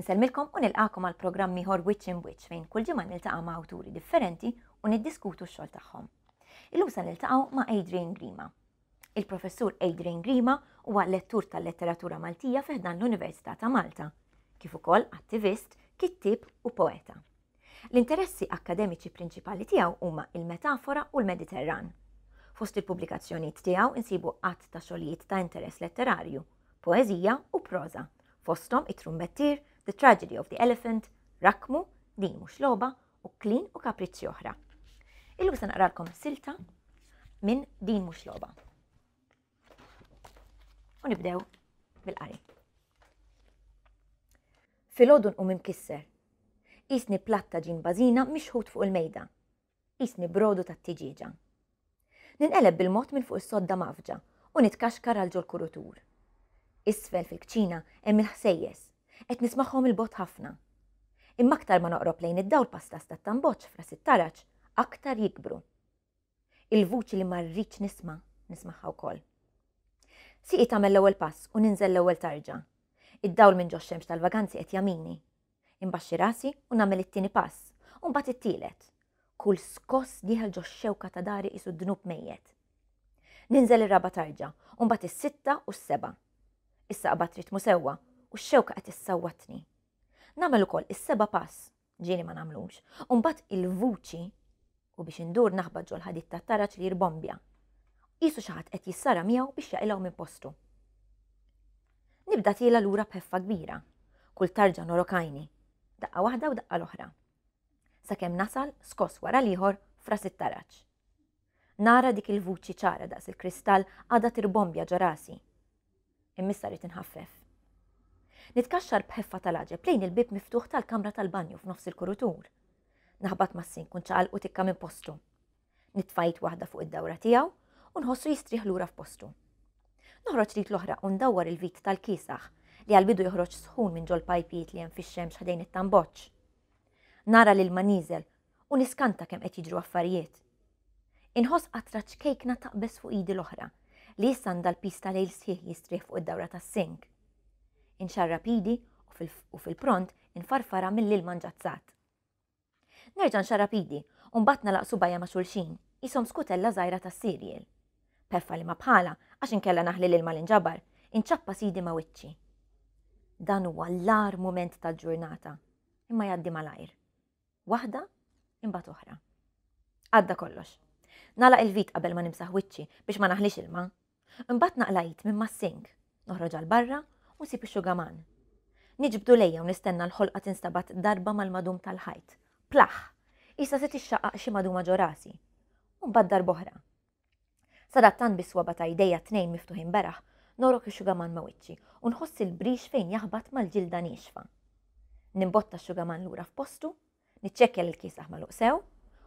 Insellmilkom u nilqakom għal programm ieħor Wiċċ in Wiċċ fejn kull ġimgħa niltaqa' ma' awturi differenti u niddiskutu x-xogħol tagħhom. Illum se niltaqgħu ma' Adrian Grima. Il-Professur Adrian Grima huwa lettur tal-letteratura Maltija fi ħdan l-Università ta' Malta, kif ukoll attivist, kittieb u poeta. L-interessi akkademiċi prinċipali tiegħu huma il-metafora u l-Mediterran. Fost il-pubblikazzjonijiet tiegħu insibu għadd ta' xogħlijiet ta' interess letterarju, poeżija u proża, fosthom It-Trumbettier, The Tragedy of the Elephant, Rakkmu, Din Mhux Logħba u Klin u Kapriċċi Oħra. Illum se naqralkom silta minn Din Mhux Logħba. U nibdew bil-qari. Filgħodu nqum imkisser. Qisni platt ta' ġin bażina mixħut fuq il-mejda. Qisni brodu tat-tiġieġa. Ninqeleb bil-mod minn fuq is-sodda mgħaffġa u nitkaxkar għal ġol-kurutur. Isfel fil-kċina hemm il-ħsejjes. Qed nismagħhom 'il bogħod ħafna. Imma aktar ma noqrob lejn id-dawl pastas tat-tamboċ f'ras it-taraġ, aktar jikbru. Il-vuċi li ma rridx nisma', nismagħha wkoll. Sieqi tagħmel l-ewwel pass u ninżel l-ewwel tarġa. Id-dawl minn ġox-xemx tal-vaganzi qed jagħmini. Inbaxxi rasi u nagħmel it-tieni pass, u mbagħad it-tielet. Kull skoss dieħel ġox-xewka ta' dari qisu dnub mejjet. Ninżel ir-raba' tarġa, u mbagħad is-sitta u s-seba'. Issa qbadt ritmu sewwa u x-xewka qed issawwatni. Nagħmel ukoll is-seba' pass, ġieli ma nagħmlux, u mbagħad il-vuċi u biex indur naħbat ġol-ħadid tat-taraġ li jirbombja. Qisu xi ħadd qed jissara miegħu biex jaqilgħu minn postu. Nibda tiela lura b'ħeffa kbira. Kull tarġa norok għajni. Daqqa waħda u daqqa l-oħra. Sakemm nasal skoss wara l-ieħor f'ras it-taraġ. Nara dik il-vuċi ċara daqs il-kristall għadha tirbombja ġo rasi. Imma issa rrid inħaffef. Nitkaxxar b'ħeffa tal-għaġeb lejn il-bieb miftuħ tal-kamra tal-banju f'nofs il-kurutur. Naħbat mas-sink u nċaqalqu tikka minn postu. Nitfa' id waħda fuq id-dawra tiegħu u nħossu jistrieħ lura f'postu. Noħroġ l-id l-oħra u ndawwar il-vit tal-kiesaħ li għall-bidu joħroġ sħun minn ġol-pajpijiet li hemm fix-xemx ħdejn it-tamboċċ. Nara l-ilma nieżel u niskanta kemm qed jiġru affarijiet. Inħoss qatra ċkejkna taqbeż fuq idi l-oħra li issa għandha l-piż ta' lejl sħiħ jistrieħ fuq id-dawra tas-sink. Inxarrab idi u fil-pront infarfarha mill-ilma nġazzat. Nerġa' nxarrab idi u mbagħad nagħlaq subgħajja ma' xulxin, qishom skutella żgħira tas-cereal. B'ħeffa li ma bħalha, għax inkella naħli l-ilma li nġabar, inċappas idi ma' wiċċi. Dan huwa l-agħar mument tal-ġurnata, imma jgħaddi malajr. Waħda, imbagħad oħra. Għadda kollox. Nagħlaq il-vit qabel ma nimsaħ wiċċi biex ma naħlix ilma. Imbagħad naqla' id minn mas-sink, noħroġ għal barra u nsib ix-xugaman. Niġbdu lejja u nistenna l-ħolqa tinstabat darba mal-madum tal-ħajt. Plaħ! Qisha se tixxaqqaq xi maduma ġo rasi. U mbagħad darb'oħra. Sadattant bis-swaba' ta' jdejja t-tnejn miftuħin beraħ, norok ix-xugaman ma' wiċċi u nħoss il-brix fejn jaħbat mal-ġilda niexfa. Nimbotta x-xugaman lura f'postu Niċċekkja li l-kiesaħ magħluq sew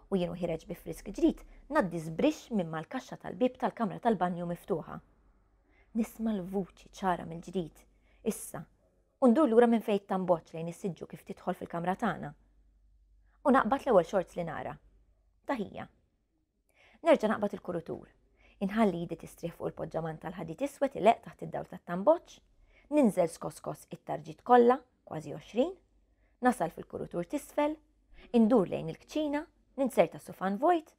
u jien u ħiereġ bi frisk ġdid ngħaddi żbrixx minn mal-kaxxa tal-bieb tal-kamra tal-banju miftuħa. Nisma' l-vuċi ċara mill-ġdid, issa, u ndur lura minn fejn it-tamboċ lejn is-siġġu kif tidħol fil-kamra tagħna. U naqbad l-ewwel shorts li nara. Ta' ħija. Nerġa' naqbad il-kurutur. Inħalli idi tistrieħ fuq il-poġġaman tal-ħadid iswed ileqq taħt id-dawl tat-tamboċ. Ninżel skos skos it-tarġiet kollha, kważi 20. Nasal fil-kurutur t'isfel. Indur lejn il-kċina, ninserta sufan vojt,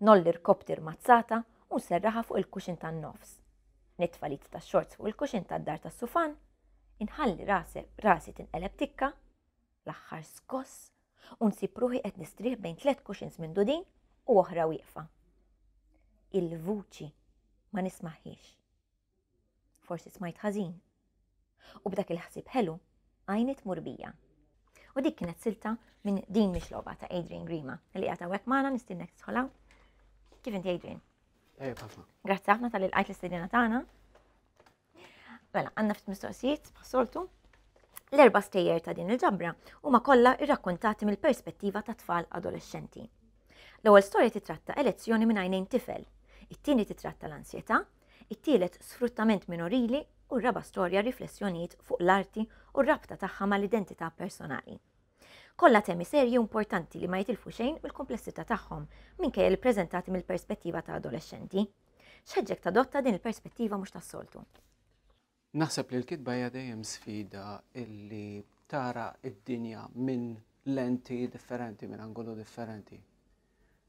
nolli rkobti rmazzata u nserraħha fuq il-kuxin tan-nofs. Nitfa' l-id tax-xorts fuq il-kuxin tad-dar tas-sufan, inħalli rasi tinqeleb tikka, l-aħħar skoss u nsib ruħi qed nistrieħ bejn tlett cushions mindudin u oħra wieqfa. Il-vuċi ma nismaħiex. Forsi smajt ħażin. U b'dak il-ħsieb ħelu, għajni tmur bija. U dik kienet silta minn din mhix logħba ta' Adrian Grima li qiegħed hawnhekk magħna nistinnek tidħol hawn. Kif inti Adrian? Ejja ħafna. Grazzi ħafna tal-li lqajt l-istedina tagħna. Mela, għandna ftit mistoqsijiet bħas-soltu. L-erba' stejjer ta' din il-ġabra huma kollha rrakkuntati mill-perspettiva ta' tfal adolescenti. L-ewwel storja titratta elezzjoni minn għajnejn tifel, it-tieni titratta l-ansjetà, it-tielet sfruttament minorili u r-raba' storja riflessjonijiet fuq l-arti u r-rabta tagħha mal-identità personali. Kollha temi serji u importanti li ma jitilfu xejn mill-kumplessità tagħhom minkejja li ppreżentati mill-perspettiva ta' adolescenti. X'ħeġġek tadotta din il-perspettiva mhux tas-soltu? Naħseb li l-kitba hija dejjem sfida illi tara d-dinja minn lenti differenti, minn angolu differenti.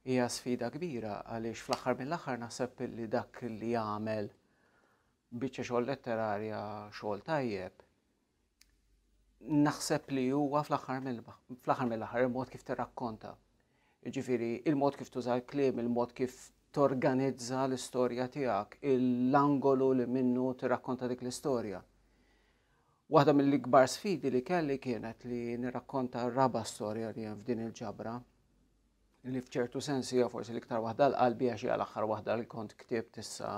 Hija sfida kbira għaliex fl-aħħar mill-aħħar naħseb li dak li jagħmel biċċa xogħol letterarja xogħol tajjeb naħseb li huwa fl-aħħar mill-aħħar il-mod kif tirrakkonta. Jiġifieri il-mod kif tuża l-kliem, il-mod kif torganizza l-istorja tiegħek, l-angolu li minnu tirrakkonta dik l-istorja. Waħda mill-ikbar sfidi li kelli kienet li nirrakkonta r-raba' storja li hemm f'din il-ġabra, li f'ċertu sens hija forsi l-iktar waħda l-qalbi għax hija l-aħħar waħda li kont ktibt issa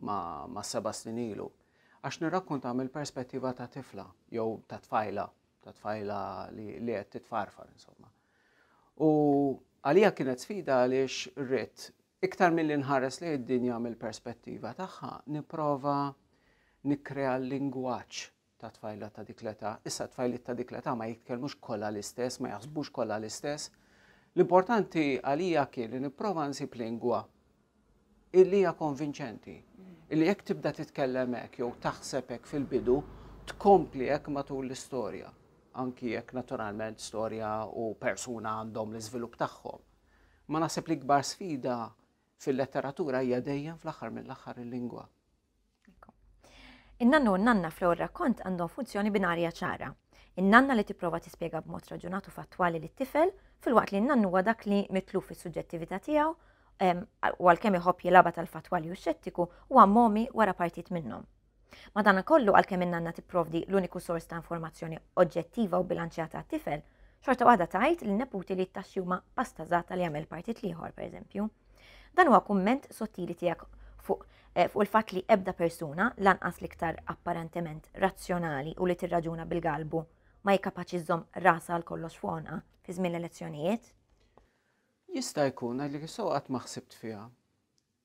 ma', ma seba' snin ilu. Għax nirrakkonta mill-perspettiva ta' tifla jew ta' tfajla, ta' tfajla li, li qed titfarfar insomma. U għalija kienet sfida għaliex rrid iktar milli nħares lejn id-dinja mill-perspettiva tagħha, nipprova nikkrea l-lingwaġġ ta' tfajla ta' dik l-età. Issa tfajliet ta' dik l-età ma jitkellmux kollha l-istess, ma jaħsbux kollha l-istess. L-importanti għalija kien li nipprova nsib lingwa illi hija konvinċenti. Illi jekk tibda titkellem hekk jew taħseb hekk fil-bidu, tkompli hekk matul l-istorja. Anki jekk naturalment storja u persuna għandhom l-iżvilupp tagħhom. Ma naħseb li kbar sfida fil-letteratura hija dejjem fl-aħħar mill-aħħar il-lingwa. In-nannu u n-nanna fl-ewwel rakkont għandhom funzjoni binarja ċara. In-nanna li tipprova tispjega b'mod raġunat u fattwali lit-tifel, filwaqt li n-nannu huwa dak li mitluf fis-suġġettività tiegħu u għalkemm iħobb jilgħabha tal-fattwali u xettiku huwa momi wara partit minnhom. Madankollu għalkemm in-nanna tipprovdi l-uniku sors ta' informazzjoni oġġettiva u bilanċjata għat-tifel, xorta waħda tgħid lin-neputi li t-taxxi huma pastażata li jagħmel partit l-ieħor, pereżempju. Dan huwa kumment sottili tiegħek fuq eh, fuq il-fatt li ebda persuna, lanqas l-iktar apparentement razzjonali u li tirraġuna bil-galbu, ma hi kapaċi żżomm rasha għal kollox fuq għonqha fi żmien l-elezzjonijiet. Jista' jkun għalli so qatt ma ħsibt fiha.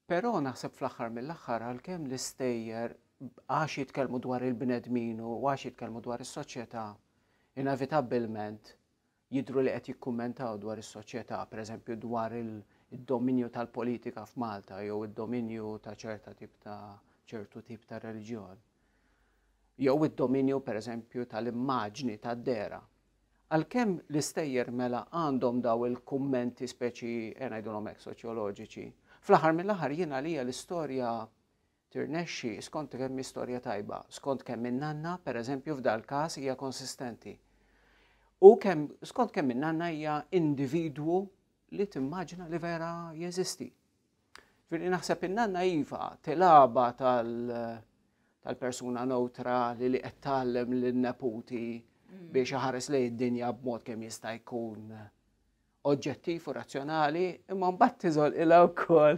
Però naħseb fl-aħħar mill-aħħar għalkemm l-istejjer għax jitkellmu dwar il-bnedmin u għax jitkellmu dwar is-soċjetà, inevitabbilment jidhru li qed jikkummentaw dwar is-soċjetà, pereżempju dwar id-dominju tal-politika f'Malta jew id-dominju ta' ċerta tip ta' ċertu tip ta' reliġjon. Jew id-dominju pereżempju tal-immaġni tad-dehra. Għalkemm l-istejjer mela għandhom daw il-kummenti speċi eh, ngħidulhom hekk soċjoloġiċi, fl-aħħar mill-aħħar jien għalija l-istorja tirnexxi skont kemm hi storja tajba, skont kemm in-nanna, pereżempju f'dal-każ hija konsistenti. U kemm skont kemm in-nanna hija individwu li timmaġina li vera jeżisti. Ġifieri naħseb in-nanna iva tilgħabha tal-persuna neutrali li qed tgħallem lin-neputi mm. biex iħares lejn id-dinja b'mod kemm jista' jkun oġġettiv u razzjonali, imma mbagħad tiżol ilha wkoll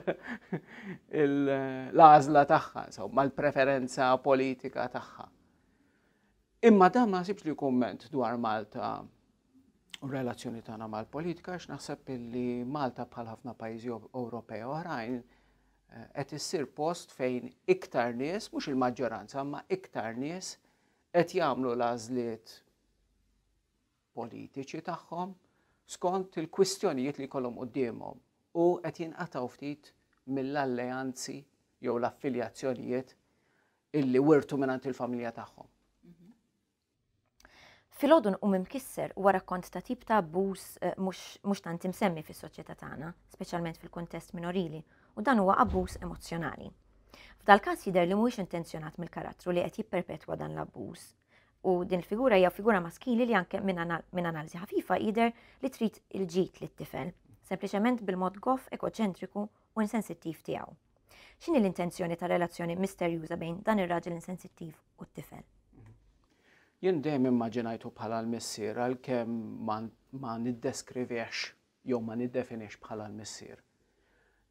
l-għażla tagħha, insomma l-preferenza politika tagħha. Imma dan ma nasibx li kumment dwar Malta u relazzjoni tagħna mal-politika għax naħseb li Malta bħal ħafna pajjiżi Ewropej oħrajn eh, qed issir post fejn iktar nies, mhux il-maġġoranza, imma iktar nies qed jagħmlu l-għażliet politiċi tagħhom skont il-kwistjonijiet li jkollhom quddiemhom u qed jinqatgħu ftit mill-alleanzi jew l-affiljazzjonijiet illi wirtu mingħand il-familja tagħhom. Filgħodu nqum imkisser huwa rakkont ta' tip ta' abbuż eh, mhux tant imsemmi fis-soċjetà tagħna, speċjalment fil-kuntest minorili, u dan huwa abbuż emozzjonali. F'dal-każ jidher li mhuwiex intenzjonat mill-karattru li qed jipperpetwa dan l-abbuż. U din il-figura hija figura maskili li anke minn analiżi ħafifa jidher li trid il-ġid lit-tifel, sempliċement bil-mod goff, egoċentriku u insensittiv tiegħu. X'inhi l-intenzjoni ta' relazzjoni misterjuża bejn dan ir-raġel insensittiv u t-tifel? Jien dejjem immaġinajtu bħala l-missier għalkemm ma, ma niddeskrivihx jew ma niddefinix bħala l-missier.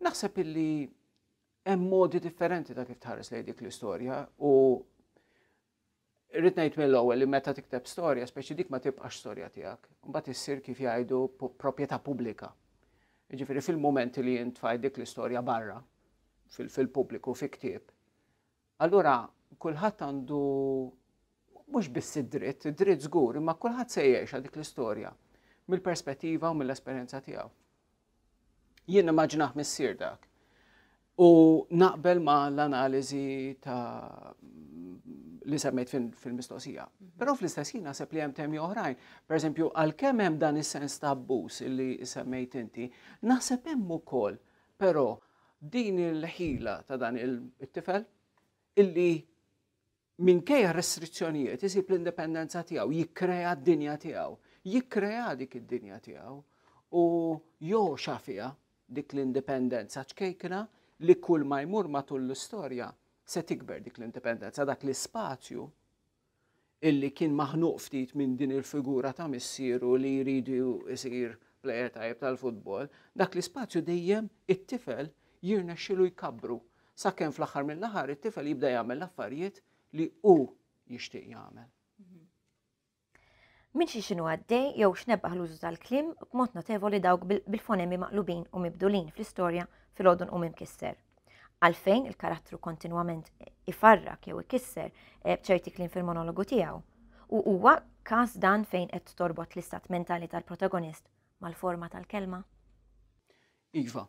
Naħseb illi hemm modi differenti ta' kif tħares lejn dik l-istorja u Irrid ngħid mill-ewwel li meta tikteb storja, speċi dik ma tibqax storja tiegħek, imbagħad issir kif jgħidu proprjetà pubblika. Jiġifieri fil-mument li jien tfajt dik l-istorja barra fil-pubbliku fi ktieb, allura kulħadd għandu mhux biss id-dritt, id-dritt żgur, imma kulħadd se jgħixha dik l-istorja mill-perspettiva u mill-esperjenza tiegħu. Jien nimmaġinah missier dak. U naqbel ma l-analiżi ta' li semmejt fil-mistoqsija. Però fl-istess ħin naħseb li hemm temi oħrajn. Per eżempju, għalkemm hemm dan is-sens ta' abbuż li semmejt inti, naħseb hemm ukoll però din il-ħila ta' dan il-tifel illi minkejja restrizzjonijiet isib l-indipendenza tiegħu, jikkrea d-dinja tiegħu, jikkrea dik id-dinja tiegħu u joxa fiha dik l-indipendenza ċkejkna li kull ma jmur matul l-istorja se tikber dik l-indipendenza, dak l-ispazju illi kien maħnuq ftit minn din il-figura ta' missieru li jridu jsir plejer tajjeb tal-futbol, dak l-ispazju dejjem it-tifel jirnexxilu jkabbru sakemm fl-aħħar mill-aħħar it-tifel jibda jagħmel l-affarijiet li hu jixtieq jagħmel. Minn xi x'inhu għaddej jew x'nebbaħ l-użu tal-kliem b'mod notevoli dawk bil-fonemi maqlubin u mibdulin fl-istorja filgħodu nqum imkisser. Għalfejn il-karattru kontinwament ifarrak jew ikisser eh, b'ċerti kliem fil-monologu tiegħu. U huwa każ dan fejn qed torbot l-istat mentali tal-protagonist mal-forma tal-kelma? Iva.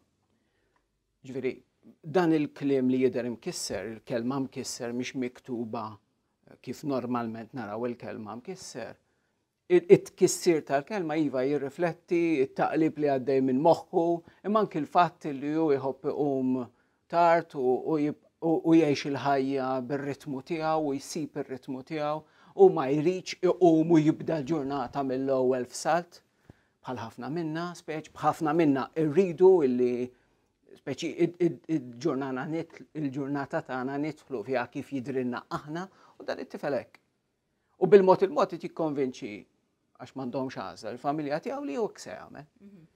Ġifieri, dan il-kliem li jidher imkisser, il-kelma mkisser mhix miktuba kif normalment naraw il-kelma mkisser. It-tkissir tal-kelma iva jirrifletti it-taqlib li għaddej minn moħħu, imma anki l-fatt li hu jħobb iqum tard u jgħix il-ħajja bir-ritmu tiegħu u jsib ir-ritmu tiegħu u ma jridx iqum u jibda l-ġurnata mill-ewwel f'salt. Bħal ħafna minna, speċ b'ħafna minna rridu illi speċi il-ġurnata il-ġurnata tagħna nidħlu fiha kif jidrilna aħna u dan it-tifel hekk. U bil-mod il-mod qed jikkonvinċi għax m'għandhomx għażla il-familja tiegħu li hu se jagħmel. Mhm.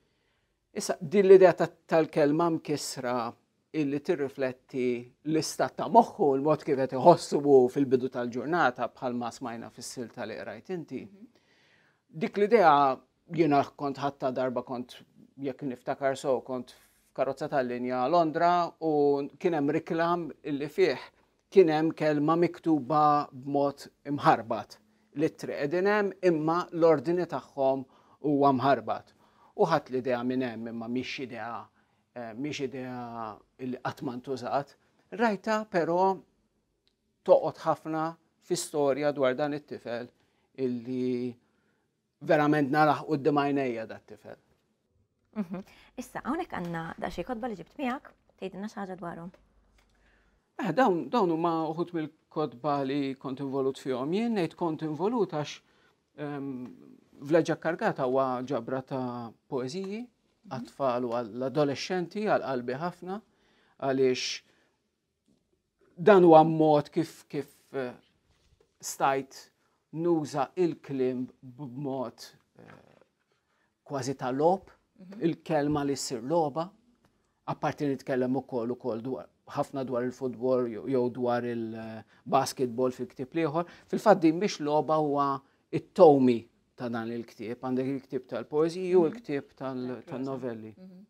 Issa din l-idea tal-kelma mkissra illi tirrifletti l-istat ta' moħħu, l-mod kif qed iħossu fil-bidu tal-ġurnata bħalma smajna fis-silta li qrajt inti. Mhm. Dik l-idea jiena kont ħatta darba kont jekk niftakar so kont f'karozza tal-linja Londra u kien hemm riklam illi fih kien hemm kelma miktuba b'mod imħarbat. L-ittri qegħdin hemm imma l-ordni tagħhom huwa mħarbat. U ħadd l-idea minn hemm imma mhix idea eh, mhix idea li qatt ma ntużat. Rajta però toqgħod ħafna fi storja dwar dan it-tifel illi verament narah quddiem għajnejja dat tifel. Mhm. Issa, hawnhekk għandna daqsxejn kotba li ġibt miegħek, tgħidilna xi ħaġa dwarhom. Eh, dawn dawn huma uħud mill-kotba li kont involut fihom. Jien ngħid kont involut għax ehm, Vleġġa Kargata huwa ġabra ta' poeżiji mhm. għat-tfal u għall-adolescenti għal qalbi ħafna għaliex dan huwa mod kif kif eh, stajt nuża il-kliem b'mod eh, kważi ta' lob, mhm. il-kelma li ssir logħba, apparti nitkellem ukoll ukoll dwar ħafna dwar il-futbol jew dwar il-basketball fil-ktieb l-ieħor. Fil-fatt din biex logħba huwa it-tomi ta' dan il-ktieb, għandek il-ktieb tal-poeżiji u mhm. l-ktieb tal-novelli. Mhm.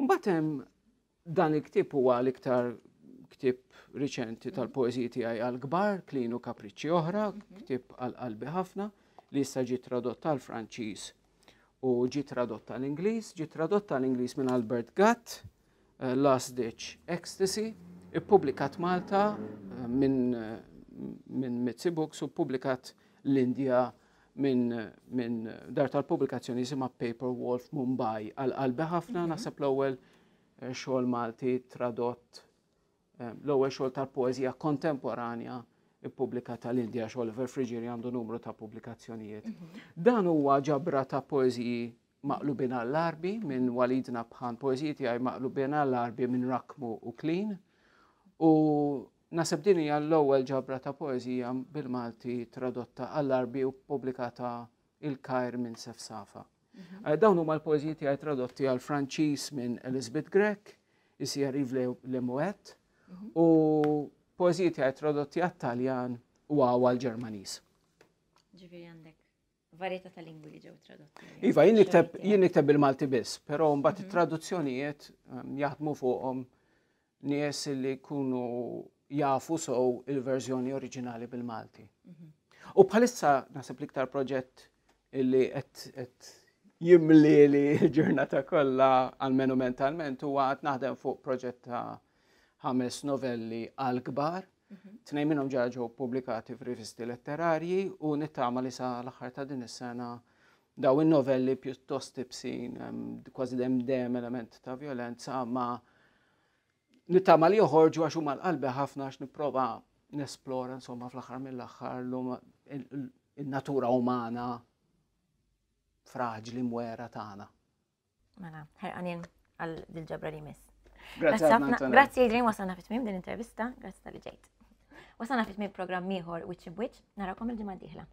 Mbagħad hemm Dan il-ktieb huwa l-iktar ktieb riċenti tal-poeżiji tiegħi għall-kbar, Klin u Kapriċċi Oħra, mhm. ktieb għal qalbi ħafna li issa ġie tradott għal Franċiż u ġie tradott għal Ingliż, ġie tradott għal Ingliż minn Albert Gatt, eh, Last Ditch Ecstasy, ippubblikat Malta eh, minn eh, min Mitzi Books u ppubblikat l-Indja minn min dar tal-pubblikazzjoni jisimha Paper Wolf Mumbai għal qalbi ħafna mhm. naħseb l-ewwel eh, xogħol Malti tradott eh, l-ewwel xogħol tal-poeżija kontemporanja ippubblikata l-Indja għax Oliver Friggieri għandu numru ta' pubblikazzjonijiet. Mhm. Dan huwa ġabra ta' poeżiji maqlubin għall-Arbi minn Walid Nabhan, poeżiji tiegħi maqlubin għall-Arbi minn Rakmu u Klin. U naseb din hija l-ewwel ġabra ta' poeżija bil-Malti tradotta għall-Arbi u ppubblikata il-Kajr minn Sefsafa. Mhm. Eh, dawn huma l-poeżiji tiegħi tradotti għal Franċiż minn Elizabeth Grech, Ici arrive le Moet, mhm. u poeżiji tiegħi tradotti għat-Taljan u għal Ġermaniż. Ġifieri għandek varjetà ta' lingwi li ġew tradotti. Iva, jien nikteb jien nikteb bil-Malti biss, però mbagħad mhm. it-traduzzjonijiet ehm, jaħdmu fuqhom nies li jkunu jafu sow il-verżjoni oriġinali bil-Malti. Mhm. U bħalissa naħseb l-iktar proġett illi qed jimli li l-ġurnata kollha almenu mentalment huwa qed naħdem fuq proġett ta' ħames novelli għal kbar. Tnejn minnhom ġa ġew pubblikati f'rivisti letterarji u nittama li sa l-aħħar ta' din is-sena daw in-novelli pjuttost ibsin, kważi dem dem element ta' violenza, ma nittama li joħorġu għax huma l-qalbi ħafna għax nipprova nesplora insomma fl-aħħar mill-aħħar in-natura umana fraġli mwera tagħna. Mela, ħerqanin għal dil-ġabra li jmiss. Grazzi ħafna. Grazzi Adrian, wasalna fit tmiem din intervista, grazzi tal-li ġejt. Wasalna fit tmiem programm ieħor Wiċċ B'Wiċċ, narakom il-ġimgħa d-dieħla.